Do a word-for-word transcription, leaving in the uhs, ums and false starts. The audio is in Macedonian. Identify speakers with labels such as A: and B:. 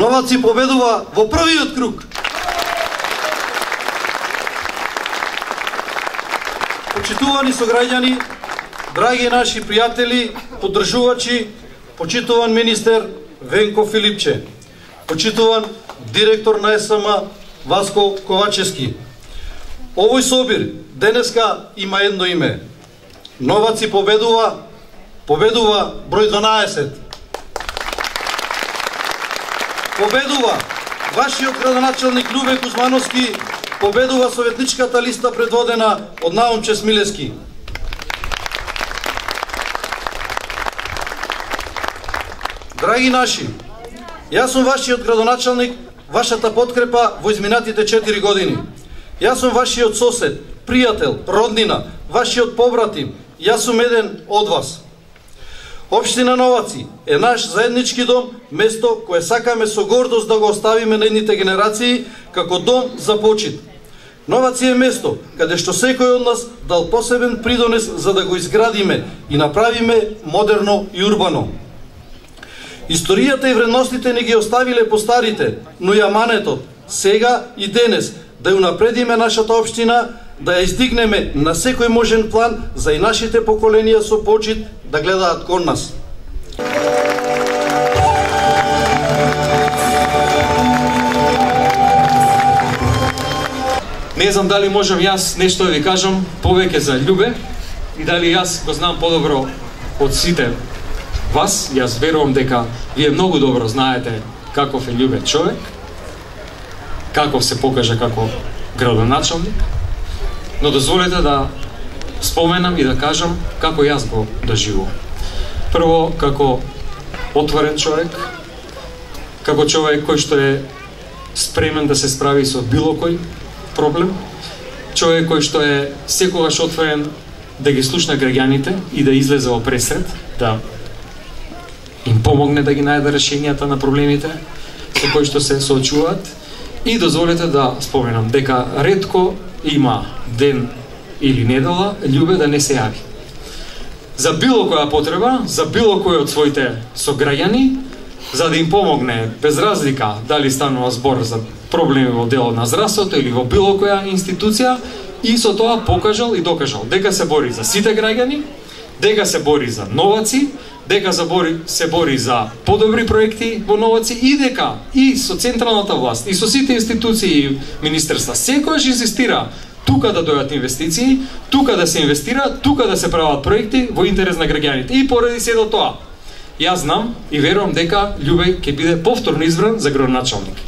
A: Новаци победува во првиот круг. Почитувани сограѓани, драги наши пријатели, поддржувачи, почитуван министер Венко Филипче, почитуван директор на ес ем а Васко Ковачевски. Овој собир денеска има едно име. Новаци победува, победува број дванаесет. Победува вашиот градоначалник Љубе Кузмановски, победува советничката листа предводена од Наумче Смилевски. Драги наши, јас сум вашиот градоначалник, вашата подкрепа во изминатите четири години. Јас сум вашиот сосед, пријател, роднина, вашиот побратим. Јас сум еден од вас. Општина Новаци е наш заеднички дом, место кое сакаме со гордост да го оставиме на едните генерации како дом за почит. Новаци е место каде што секој од нас дал посебен придонес за да го изградиме и направиме модерно и урбано. Историјата и вредностите не ги оставиле по старите, но и аманетот, сега и денес, да ја унапредиме нашата општина, да ја издигнеме на секој можен план за и нашите поколенија со почит да гледаат кон нас.
B: Не знам дали можам јас нешто да ви кажам повеќе за Љубе и дали јас го знам подобро од сите вас. Јас верувам дека вие многу добро знаете каков е Љубе човек, каков се покажа како градоначалник, но дозволете да споменам и да кажам како јас го доживувам. Прво, како отворен човек, како човек кој што е спремен да се справи со било кој проблем, човек кој што е секогаш отворен да ги слушна граѓаните и да излезе во пресред, да им помогне да ги најде решенијата на проблемите со кои што се соочуваат. И дозволете да споменам дека ретко има ден или недела Љубе да не се јави. За било која потреба, за било кој од своите сограѓани, за да им помогне без разлика дали станува збор за проблеми во делот на здравството или во било која институција, и со тоа покажал и докажал дека се бори за сите граѓани, дека се бори за Новаци, дека се бори, се бори за подобри проекти во Новаци и дека и со централната власт и со сите институции и министерства секојаш инсистира тука да дојдат инвестиции, тука да се инвестира, тука да се прават проекти во интерес на граѓаните. И поради сето тоа, јас знам и верувам дека Љубе ќе биде повторно избран за градоначалник.